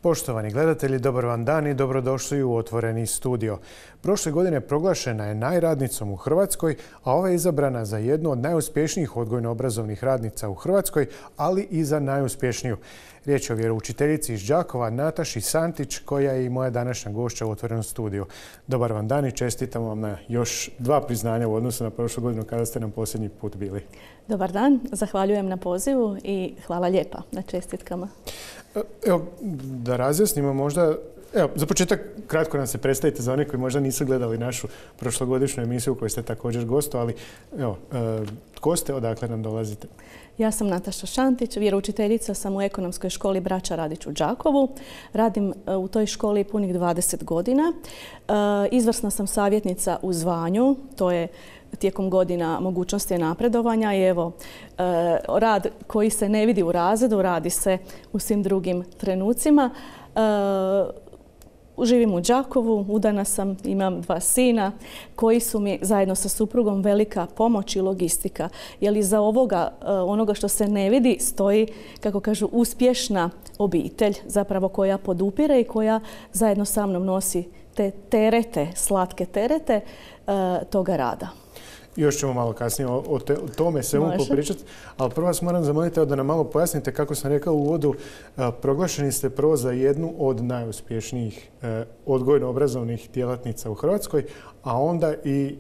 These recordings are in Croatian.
Poštovani gledatelji, dobar vam dan i dobrodošli u Otvoreni studio. Prošle godine proglašena je najradnicom u Hrvatskoj, a ova je izabrana za jednu od najuspješnijih odgojno-obrazovnih radnica u Hrvatskoj, ali i za najuspješniju. Riječ je o vjeroučiteljici iz Đakova, Nataši Santić, koja je i moja današnja gošća u Otvorenom studiju. Dobar vam dan i čestitam vam na još 2 priznanja u odnosu na prošlu godinu kada ste nam posljednji put bili. Dobar dan, zahvaljujem na pozivu i hvala lijepa na čestitkama. Evo, da razjasnimo možda, za početak kratko nam se predstavite za one koji možda nisu gledali našu prošlogodišnju emisiju u kojoj ste također gostovali. Tko ste, odakle nam dolazite? Ja sam Nataša Šantić, vjeroučiteljica sam u Ekonomskoj školi Braća Radić u Đakovu. Radim u toj školi punih 20 godina. Izvrsna sam savjetnica u zvanju, to je tijekom godina mogućnosti napredovanja i evo, rad koji se ne vidi u razredu, radi se u svim drugim trenucima. Živim u Đakovu, udana sam, imam 2 sina koji su mi zajedno sa suprugom velika pomoć i logistika. Jer iza onoga što se ne vidi stoji, kako kažu, uspješna obitelj zapravo koja podupire i koja zajedno sa mnom nosi te terete, slatke terete toga rada. Još ćemo malo kasnije o tome svemu popričati, ali prvo vas moram zamoliti da nam malo pojasnite, kako sam rekao u uvodu, proglašeni ste prvo za jednu od najuspješnijih odgojno-obrazovnih djelatnica u Hrvatskoj, a onda i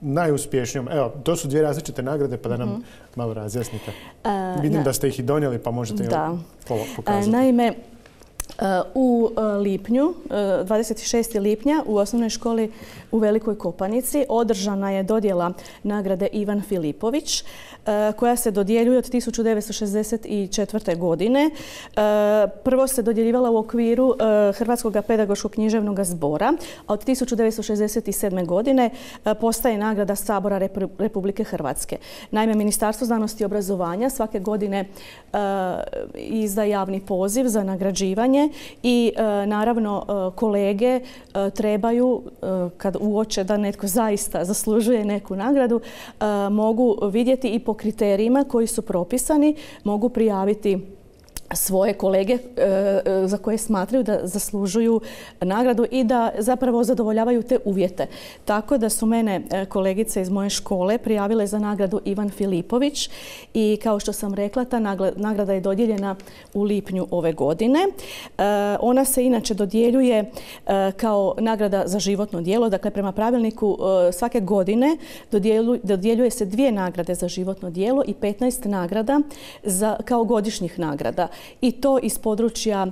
najuspješnijom. Evo, to su 2 različite nagrade, pa da nam malo razjasnite. Vidim da ste ih i donijeli, pa možete pokazati. Naime, u lipnju, 26. lipnja, u osnovnoj školi u Velikoj Kopanici održana je dodjela nagrade Ivan Filipović, koja se dodjeljuje od 1964. godine. Prvo se dodjeljivala u okviru Hrvatskog pedagoškog književnog zbora, a od 1967. godine postaje nagrada Sabora Republike Hrvatske. Naime, Ministarstvo znanosti i obrazovanja svake godine izda javni poziv za nagrađivanje i naravno kolege trebaju, kad uoče da netko zaista zaslužuje neku nagradu, mogu vidjeti i po kriterijima koji su propisani, mogu prijaviti svoje kolege za koje smatraju da zaslužuju nagradu i da zapravo zadovoljavaju te uvjete. Tako da su mene kolegice iz moje škole prijavile za nagradu Ivan Filipović i kao što sam rekla, ta nagrada je dodijeljena u lipnju ove godine. Ona se inače dodjeljuje kao nagrada za životno djelo. Dakle, prema pravilniku svake godine dodjeljuje se 2 nagrade za životno djelo i 15 nagrada kao godišnjih nagrada. I to iz područja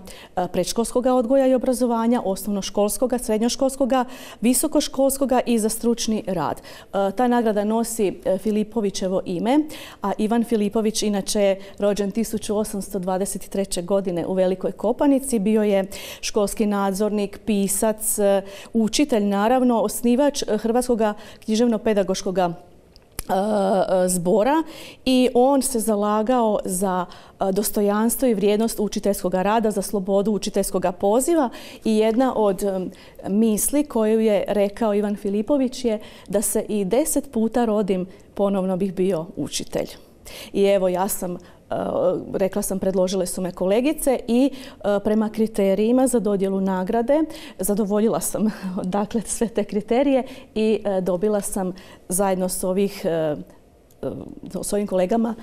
predškolskog odgoja i obrazovanja, osnovnoškolskoga, srednjoškolskoga, visokoškolskoga i za stručni rad. Ta nagrada nosi Filipovićevo ime, a Ivan Filipović inače je rođen 1823. godine u Velikoj Kopanici. Bio je školski nadzornik, pisac, učitelj, naravno, osnivač Hrvatskog književno-pedagoškog zbora i on se zalagao za dostojanstvo i vrijednost učiteljskog rada, za slobodu učiteljskog poziva i jedna od misli koju je rekao Ivan Filipović je da se i 10 puta rodim, ponovno bih bio učitelj. I evo, ja sam rekla sam, predložile su me kolegice i prema kriterijima za dodjelu nagrade zadovoljila sam dakle sve te kriterije i dobila sam zajedno s ovim kolegama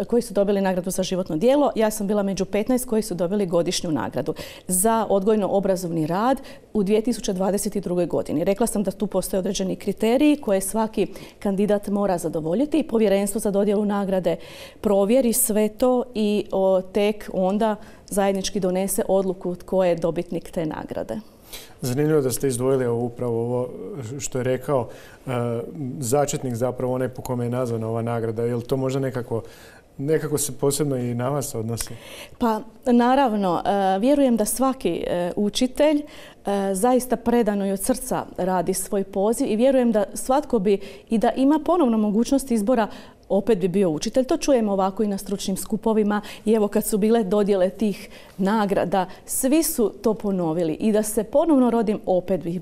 koji su dobili nagradu za životno djelo. Ja sam bila među 15 koji su dobili godišnju nagradu za odgojno-obrazovni rad u 2022. godini. Rekla sam da tu postoje određeni kriteriji koje svaki kandidat mora zadovoljiti i povjerenstvo za dodjelu nagrade provjeri sve to i tek onda zajednički donese odluku tko je dobitnik te nagrade. Zanimljivo da ste izdvojili upravo ovo što je rekao začetnik, zapravo onaj po kome je nazvana ova nagrada. Je li to možda nekako se posebno i na vas odnosi? Pa naravno, vjerujem da svaki učitelj zaista predano i od srca radi svoj poziv i vjerujem da svatko bi i da ima ponovno mogućnost izbora opet bi bio učitelj. To čujemo ovako i na stručnim skupovima i evo kad su bile dodjele tih nagrada, svi su to ponovili i da se ponovno rodim opet bih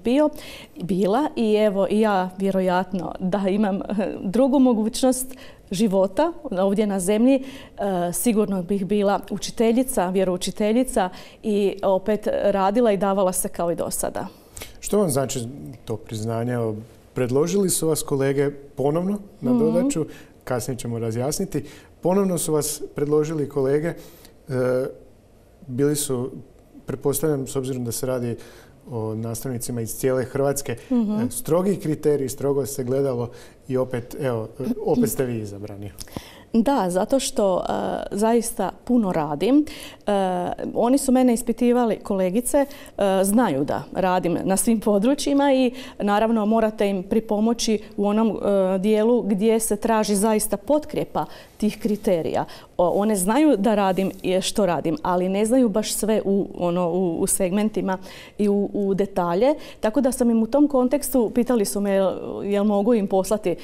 bila i evo i ja vjerojatno da imam drugu mogućnost života ovdje na zemlji, sigurno bih bila učiteljica, vjeroučiteljica i opet radila i davala se kao i do sada. Što vam znači to priznanje? Predložili su vas kolege ponovno na dodaću, kasnije ćemo razjasniti. Ponovno su vas predložili kolege, bili su, pretpostavljam, s obzirom da se radi o nastavnicima iz cijele Hrvatske, strogi kriteriji, strogo se gledalo i opet ste vi izabrani. Da, zato što zaista puno radim. Oni su mene ispitivali, kolegice, znaju da radim na svim područjima i naravno morate im pripomoći u onom dijelu gdje se traži zaista potkrijepa tih kriterija. One znaju da radim što radim, ali ne znaju baš sve u segmentima i u detalje. Tako da sam im u tom kontekstu, pitali su me jel mogu im poslati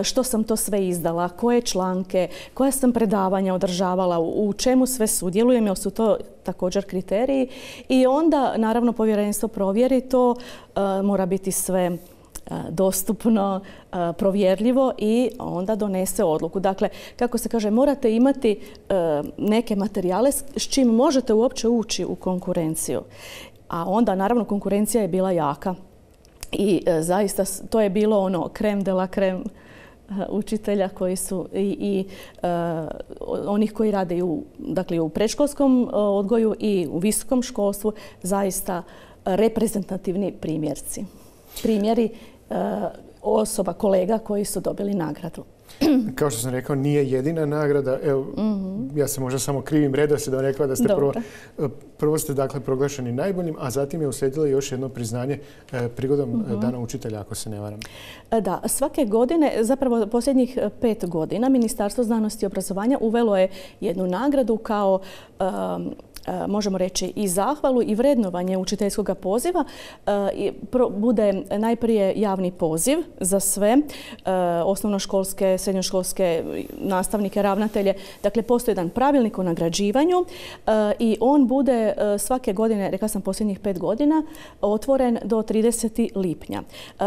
što sam to sve izdala, koje članke, koja sam predavanja održavala, u čemu sve sudjelujem, jer su to također kriteriji. I onda, naravno, povjerenstvo provjeri to, mora biti sve dostupno, provjerljivo i onda donese odluku. Dakle, kako se kaže, morate imati neke materijale s čim možete uopće ući u konkurenciju. A onda, naravno, konkurencija je bila jaka. I zaista to je bilo ono creme de la creme učitelja koji su i onih koji rade u predškolskom odgoju i u visokom školstvu zaista reprezentativni primjeri osoba, kolega koji su dobili nagradu. Kao što sam rekao, nije jedina nagrada. Evo, ja se možda samo krivim redoslijedom rekla da ste prvo ste dakle proglašeni najboljim, a zatim je uslijedilo još jedno priznanje prigodom Dana učitelja, ako se ne varam. Da, svake godine, zapravo posljednjih 5 godina, Ministarstvo znanosti i obrazovanja uvelo je jednu nagradu kao možemo reći i zahvalu i vrednovanje učiteljskog poziva. Bude najprije javni poziv za sve osnovnoškolske, srednjoškolske nastavnike, ravnatelje. Dakle, postoji jedan pravilnik o nagrađivanju i on bude svake godine, rekla sam posljednjih 5 godina, otvoren do 30. lipnja.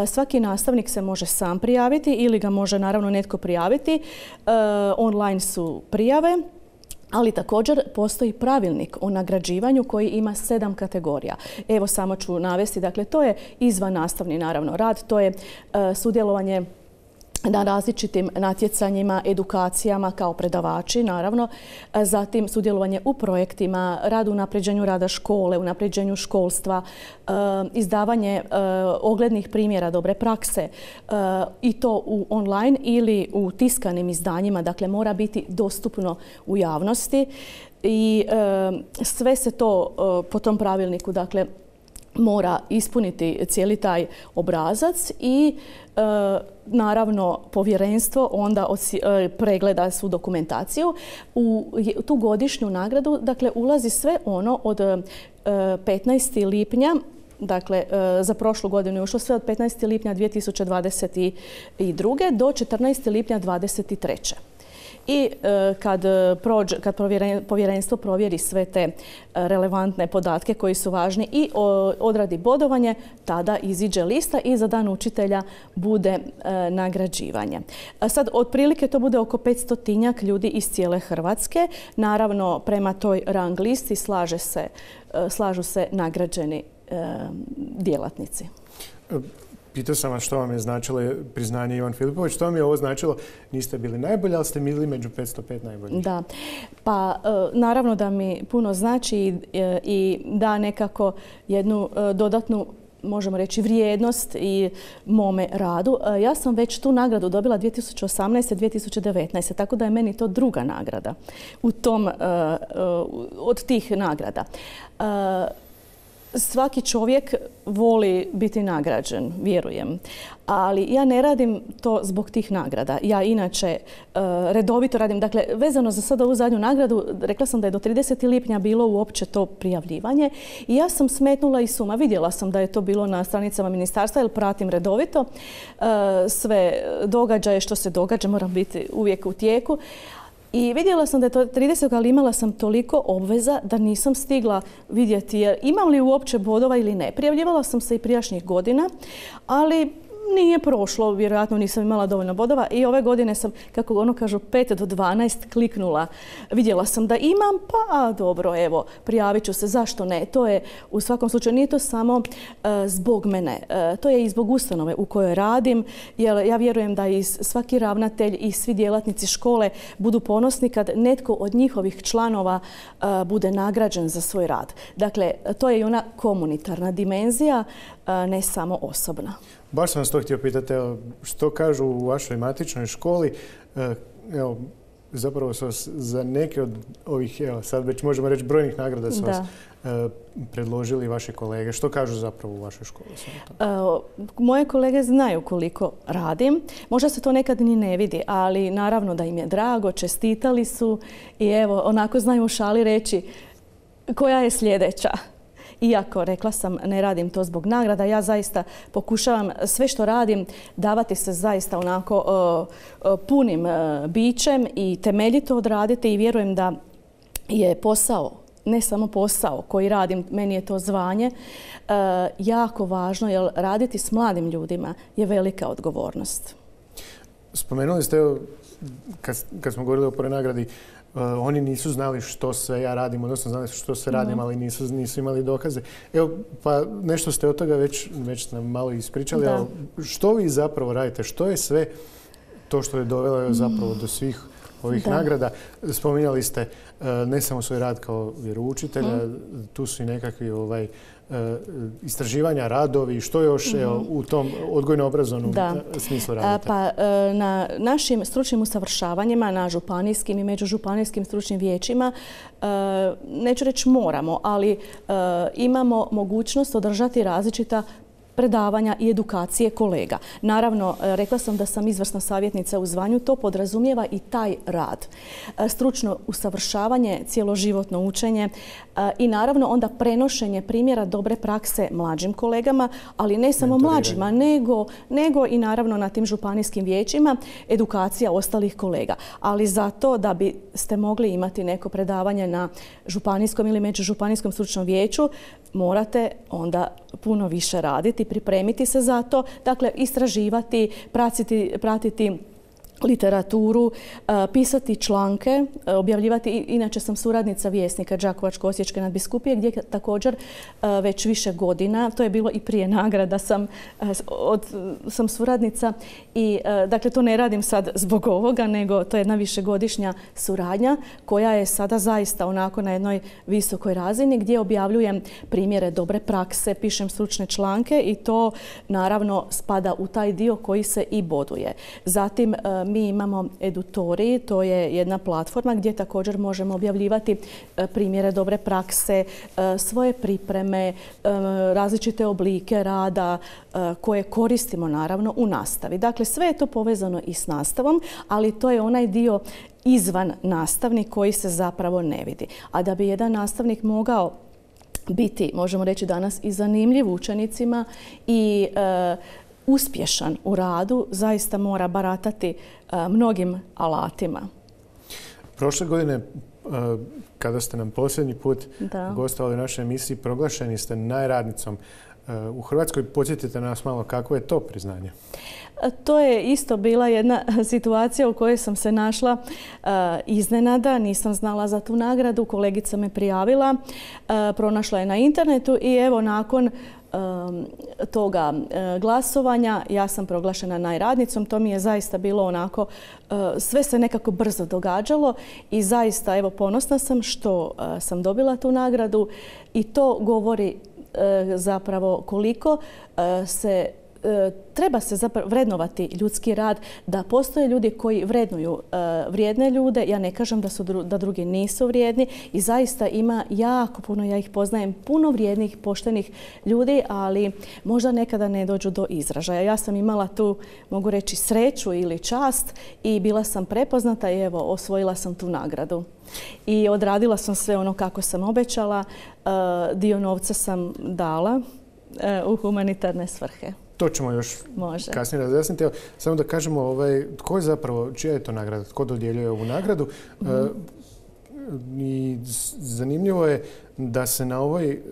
Svaki nastavnik se može sam prijaviti ili ga može naravno netko prijaviti. Online su prijave. Ali također postoji pravilnik o nagrađivanju koji ima 7 kategorija. Evo samo ću navesti, dakle to je izvan nastavni naravno rad, to je sudjelovanje na različitim natjecanjima, edukacijama kao predavači, naravno. Zatim sudjelovanje u projektima, rad u unapređenju rada škole, unapređenju školstva, izdavanje oglednih primjera dobre prakse i to u online ili u tiskanim izdanjima, dakle mora biti dostupno u javnosti i sve se to po tom pravilniku, dakle, mora ispuniti cijeli taj obrazac i naravno povjerenstvo onda pregleda svu dokumentaciju. U tu godišnju nagradu dakle ulazi sve ono od 15. lipnja, dakle za prošlu godinu je ušlo sve od 15. lipnja 2022. do 14. lipnja 2023. I kad povjerenstvo provjeri sve te relevantne podatke koji su važni i odradi bodovanje, tada iziđe lista i za Dan učitelja bude nagrađivanje. Sad, otprilike to bude oko 500-tinjak ljudi iz cijele Hrvatske. Naravno, prema toj rang listi slažu se nagrađeni djelatnici. Pitao sam vas što vam je značilo priznanje Ivan Filipović. Što vam je ovo značilo? Niste bili najbolji, ali ste bili među 505 najboljih. Da, pa naravno da mi puno znači i da nekako jednu dodatnu, možemo reći, vrijednost i mome radu. Ja sam već tu nagradu dobila 2018. 2019. Tako da je meni to druga nagrada od tih nagrada. svaki čovjek voli biti nagrađen, vjerujem. Ali ja ne radim to zbog tih nagrada. Ja inače redovito radim. Dakle, vezano za sada ovu zadnju nagradu, rekla sam da je do 30. lipnja bilo uopće to prijavljivanje. I ja sam smetnula i suma. Vidjela sam da je to bilo na stranicama ministarstva jer pratim redovito sve događaje što se događa. Moram biti uvijek u tijeku. I vidjela sam da je to 30. ali imala sam toliko obveza da nisam stigla vidjeti imam li uopće bodova ili ne. Prijavljivala sam se i prijašnjih godina, ali nije prošlo, vjerojatno nisam imala dovoljno bodova i ove godine sam, kako ono kažu, 5 do 12 kliknula. Vidjela sam da imam, pa dobro, evo, prijavit ću se, zašto ne? To je, u svakom slučaju, nije to samo zbog mene. To je i zbog ustanove u kojoj radim, jer ja vjerujem da i svaki ravnatelj i svi djelatnici škole budu ponosni kad netko od njihovih članova bude nagrađen za svoj rad. Dakle, to je i ona komunitarna dimenzija, ne samo osobna. Baš sam vas to htio pitati, što kažu u vašoj matičnoj školi? Evo, zapravo su vas za neke od ovih, evo, sad već možemo reći brojnih nagrada su vas predložili vaše kolege. Što kažu zapravo u vašoj školi? Moje kolege znaju koliko radim. Možda se to nekad ni ne vidi, ali naravno da im je drago, čestitali su i evo, onako znaju u šali reći koja je sljedeća. Iako, rekla sam, ne radim to zbog nagrada, ja zaista pokušavam sve što radim davati se zaista onako punim bićem i temeljito odraditi i vjerujem da je posao, ne samo posao koji radim, meni je to zvanje, jako važno jer raditi s mladim ljudima je velika odgovornost. Spomenuli ste, kad smo govorili o prvoj nagradi, oni nisu znali što sve ja radim, odnosno znali su što sve radim, ali nisu imali dokaze. Evo, pa nešto ste od toga već nam malo ispričali, ali što vi zapravo radite? Što je sve to što je dovelo zapravo do svih ovih nagrada? Spominjali ste ne samo svoj rad kao vjeroučitelja, tu su i nekakvi istraživanja, radovi, što još u tom odgojno-obrazovnom smislu radite? Pa na našim stručnim usavršavanjima, na županijskim i međužupanijskim stručnim vijećima, neću reći moramo, ali imamo mogućnost održati različita predavanja i edukacije kolega. Naravno, rekla sam da sam izvrsna savjetnica u zvanju, to podrazumijeva i taj rad. Stručno usavršavanje, cjeloživotno učenje i naravno onda prenošenje primjera dobre prakse mlađim kolegama, ali ne samo mlađima, nego i naravno na tim županijskim vijećima edukacija ostalih kolega. Ali zato da biste mogli imati neko predavanje na županijskom ili međužupanijskom stručnom vijeću, morate onda puno više raditi, pripremiti se za to, dakle istraživati, pratiti literaturu, pisati članke, objavljivati. Inače sam suradnica Vjesnika Đakovačko-osječke nadbiskupije gdje također već više godina, to je bilo i prije nagrada, sam suradnica i dakle to ne radim sad zbog ovoga, nego to je jedna višegodišnja suradnja koja je sada zaista onako na jednoj visokoj razini gdje objavljujem primjere dobre prakse, pišem stručne članke i to naravno spada u taj dio koji se i boduje. Zatim mi imamo Edutori, to je jedna platforma gdje također možemo objavljivati primjere dobre prakse, svoje pripreme, različite oblike rada koje koristimo naravno u nastavi. Dakle, sve je to povezano i s nastavom, ali to je onaj dio izvan nastavni koji se zapravo ne vidi. A da bi jedan nastavnik mogao biti, možemo reći danas, i zanimljiv učenicima i uspješan u radu, zaista mora baratati mnogim alatima. Prošle godine, kada ste nam posljednji put gostovali u našoj emisiji, proglašeni ste najradnicom u Hrvatskoj. Podsjetite nas malo kako je to priznanje. To je isto bila jedna situacija u kojoj sam se našla iznenada. Nisam znala za tu nagradu. Kolegica me prijavila, pronašla je na internetu i evo nakon toga glasovanja ja sam proglašena najradnicom. To mi je zaista bilo onako, sve se nekako brzo događalo i zaista evo ponosna sam što sam dobila tu nagradu i to govori zapravo koliko se treba se zapravo vrednovati ljudski rad, da postoje ljudi koji vrednuju vrijedne ljude. Ja ne kažem da drugi nisu vrijedni i zaista ima jako puno, ja ih poznajem, puno vrijednih, poštenih ljudi, ali možda nekada ne dođu do izražaja. Ja sam imala tu, mogu reći, sreću ili čast i bila sam prepoznata i evo, osvojila sam tu nagradu. I odradila sam sve ono kako sam obećala. Dio novca sam dala u humanitarne svrhe. To ćemo još kasnije razjasniti. Samo da kažemo tko je zapravo, čija je to nagrada, tko dodjeljuje ovu nagradu. I zanimljivo je da se na ovoj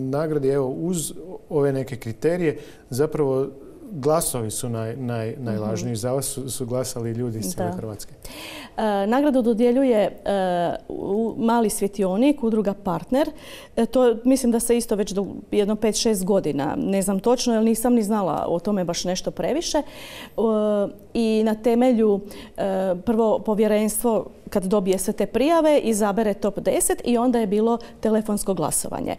nagradi, uz ove neke kriterije, zapravo glasovi su najvažniji. Za vas su glasali ljudi iz cijele Hrvatske. Nagradu dodjeljuje Mali svjetionik, udruga Partner. To mislim da se isto već do jedno 5-6 godina, ne znam točno jer nisam ni znala o tome baš nešto previše. I na temelju prvo povjerenstvo kad dobije sve te prijave izabere top 10 i onda je bilo telefonsko glasovanje.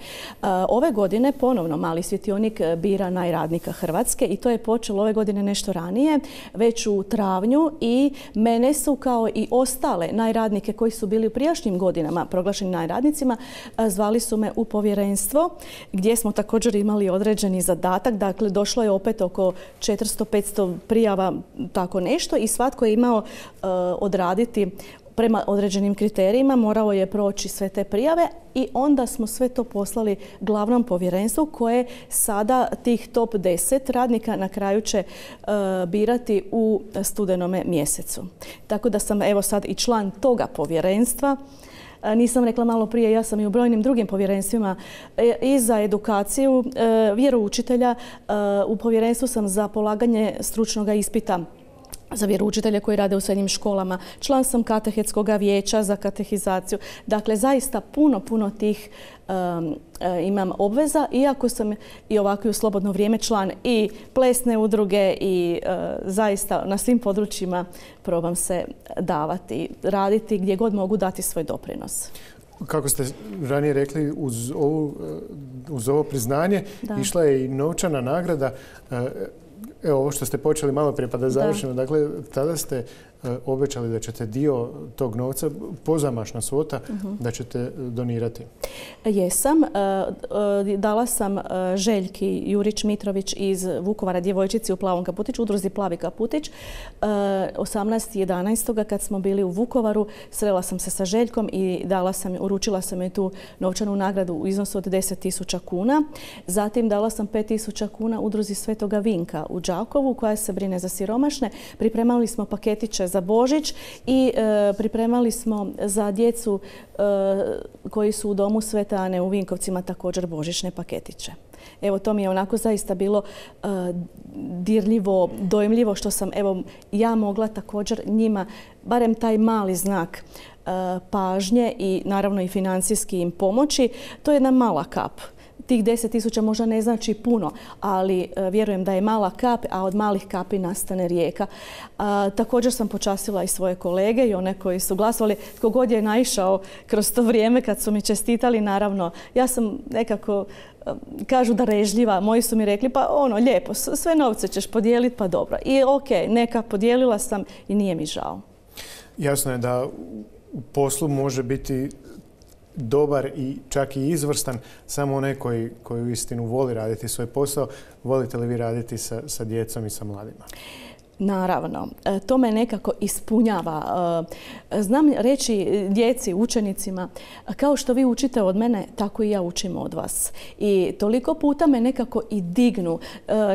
Ove godine ponovno Mali svjetionik bira najradnika Hrvatske i to je počelo ove godine nešto ranije, već u travnju, i mene su kao i ostale najradnike koji su bili u prijašnjim godinama proglašeni najradnicima, zvali su me u povjerenstvo gdje smo također imali određeni zadatak. Dakle, došlo je opet oko 400-500 prijava, tako nešto, i svatko je imao odraditi prema određenim kriterijima, morao je proći sve te prijave i onda smo sve to poslali glavnom povjerenstvu koje sada tih top 10 radnika na kraju će birati u studenome mjesecu. Tako da sam evo sad i član toga povjerenstva. Nisam rekla malo prije, ja sam i u brojnim drugim povjerenstvima i za edukaciju vjeroučitelja. U povjerenstvu sam za polaganje stručnog ispita za vjeroučitelje koji rade u srednjim školama. Član sam katehetskog vijeća za katehizaciju. Dakle, zaista puno tih imam obveza, iako sam i ovako u slobodno vrijeme član i plesne udruge i zaista na svim područjima probam se davati, raditi gdje god mogu dati svoj doprinos. Kako ste ranije rekli, uz ovo priznanje išla je i novčana nagrada. Evo, ovo što ste počeli malo prije pa da završimo. Dakle, tada ste obećali da ćete dio tog novca, pozamašna svota, da ćete donirati. Jesam. Dala sam Željki Jurić-Mitrović iz Vukovara, djevojčici u plavom kaputiću, udruzi Plavi kaputić. 18.11. kad smo bili u Vukovaru, srela sam se sa Željkom i uručila sam joj tu novčanu nagradu u iznosu od 10.000 kuna. Zatim dala sam 5.000 kuna udruzi Svetoga Vinka u Đakovu koja se brine za siromašne. Pripremali smo paketiće za Božić i pripremali smo za djecu koji su u domu Svete Ane u Vinkovcima također božićne paketiće. Evo, to mi je onako zaista bilo dirljivo, dojmljivo što sam ja mogla također njima barem taj mali znak pažnje i naravno i financijski im pomoći. To je jedna mala kap. Tih 10.000 možda ne znači puno, ali vjerujem da je mala kap, a od malih kapi nastane rijeka. Također sam počastila i svoje kolege i one koji su glasovali. Tko god je naišao kroz to vrijeme kad su mi čestitali, naravno, ja sam nekako, kažu da režljiva, moji su mi rekli pa lijepo, sve novce ćeš podijeliti, pa dobro. I neka, podijelila sam i nije mi žao. Jasno je da u poslu može biti dobar i čak i izvrstan samo onaj koji uistinu voli raditi svoj posao. Volite li vi raditi sa djecom i sa mladima? Naravno, to me nekako ispunjava. Znam reći djeci, učenicima, kao što vi učite od mene, tako i ja učim od vas. I toliko puta me nekako i dignu.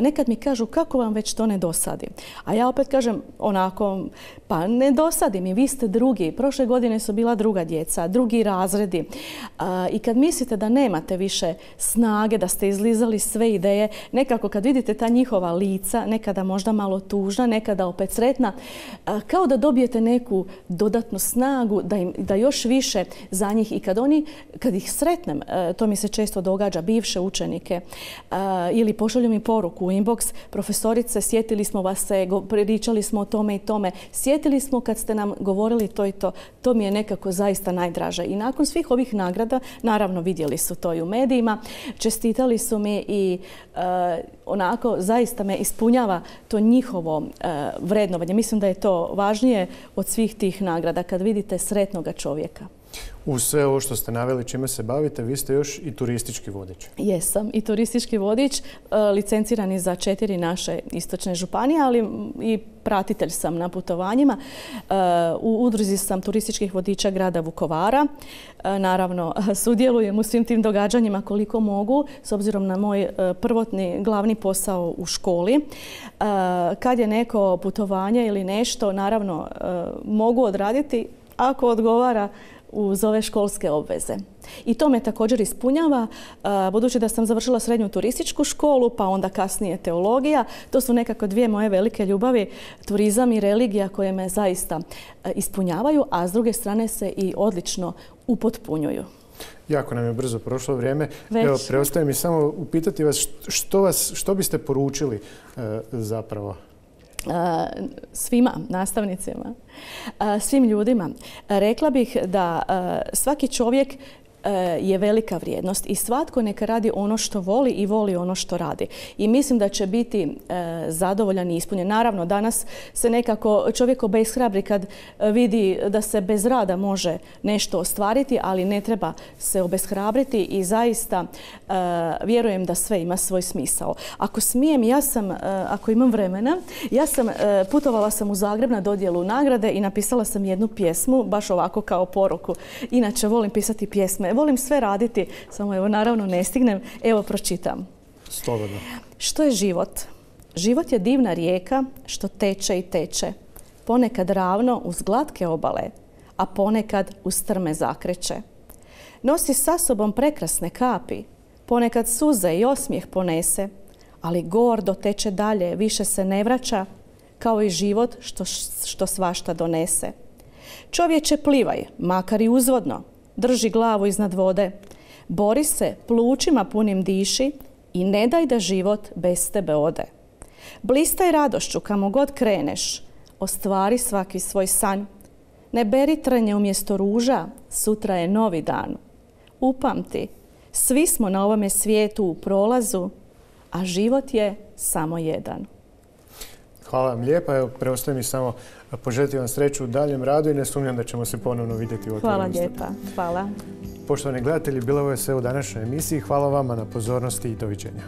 Nekad mi kažu kako vam već to ne dosadi. A ja opet kažem onako, pa ne dosadi mi, vi ste drugi. Prošle godine su bila druga djeca, drugi razredi. I kad mislite da nemate više snage, da ste izlizali sve ideje, nekako kad vidite ta njihova lica, nekada možda malo tužna, nekada opet sretna, kao da dobijete neku dodatnu snagu da još više za njih, i kad ih sretnem, to mi se često događa, bivše učenike, ili pošalju mi poruku u inbox, profesorice, sjetili smo vas se, pričali smo o tome i tome, sjetili smo kad ste nam govorili to i to. To mi je nekako zaista najdraže. I nakon svih ovih nagrada, naravno vidjeli su to i u medijima, čestitali su mi i onako zaista me ispunjava to njihovo vrednovanje. Mislim da je to važnije od svih tih nagrada kad vidite sretnoga čovjeka. Uz sve ovo što ste naveli čime se bavite, vi ste još i turistički vodič. Jesam i turistički vodič, licencirani za 4 naše istočne županije, ali i pratitelj sam na putovanjima. U udruzi sam turističkih vodiča grada Vukovara. Naravno, sudjelujem u svim tim događanjima koliko mogu, s obzirom na moj prvotni glavni posao u školi. Kad je neko putovanje ili nešto, naravno, mogu odraditi ako odgovara uz ove školske obveze. I to me također ispunjava, budući da sam završila srednju turističku školu, pa onda kasnije teologija. To su nekako 2 moje velike ljubavi, turizam i religija, koje me zaista ispunjavaju, a s druge strane se i odlično upotpunjuju. Jako nam je brzo prošlo vrijeme. Evo, preostaje mi samo upitati vas što biste poručili zapravo? Svima nastavnicima, svim ljudima. Rekla bih da svaki čovjek je velika vrijednost i svatko neka radi ono što voli i voli ono što radi. I mislim da će biti zadovoljan i ispunjen. Naravno, danas se nekako čovjek obeshrabri kad vidi da se bez rada može nešto ostvariti, ali ne treba se obeshrabriti i zaista vjerujem da sve ima svoj smisao. Ako smijem, ako imam vremena, putovala sam u Zagreb na dodjelu nagrade i napisala sam jednu pjesmu, baš ovako kao poruku. Inače, volim pisati pjesme. Volim sve raditi, samo evo naravno ne stignem. Evo pročitam. Slobodno. Što je život? Život je divna rijeka što teče i teče. Ponekad ravno uz glatke obale, a ponekad uz strme zakreće. Nosi sa sobom prekrasne kapi, ponekad suze i osmijeh ponese, ali gordo teče dalje, više se ne vraća, kao i život što svašta donese. Čovječe, plivaj, makar i uzvodno, drži glavu iznad vode, bori se, plućima punim diši i ne daj da život bez tebe ode. Blistaj radošću kamo god kreneš, ostvari svaki svoj sanj. Ne beri trnje umjesto ruža, sutra je novi dan. Upamti, svi smo na ovome svijetu u prolazu, a život je samo jedan. Hvala vam lijepa. Evo, preostaje mi samo poželjeti vam sreću u daljem radu i ne sumnjam da ćemo se ponovno vidjeti u Otvorenom studiju. Hvala lijepa. Hvala. Poštovani gledatelji, bilo je sve u današnjoj emisiji. Hvala vama na pozornosti i doviđenja.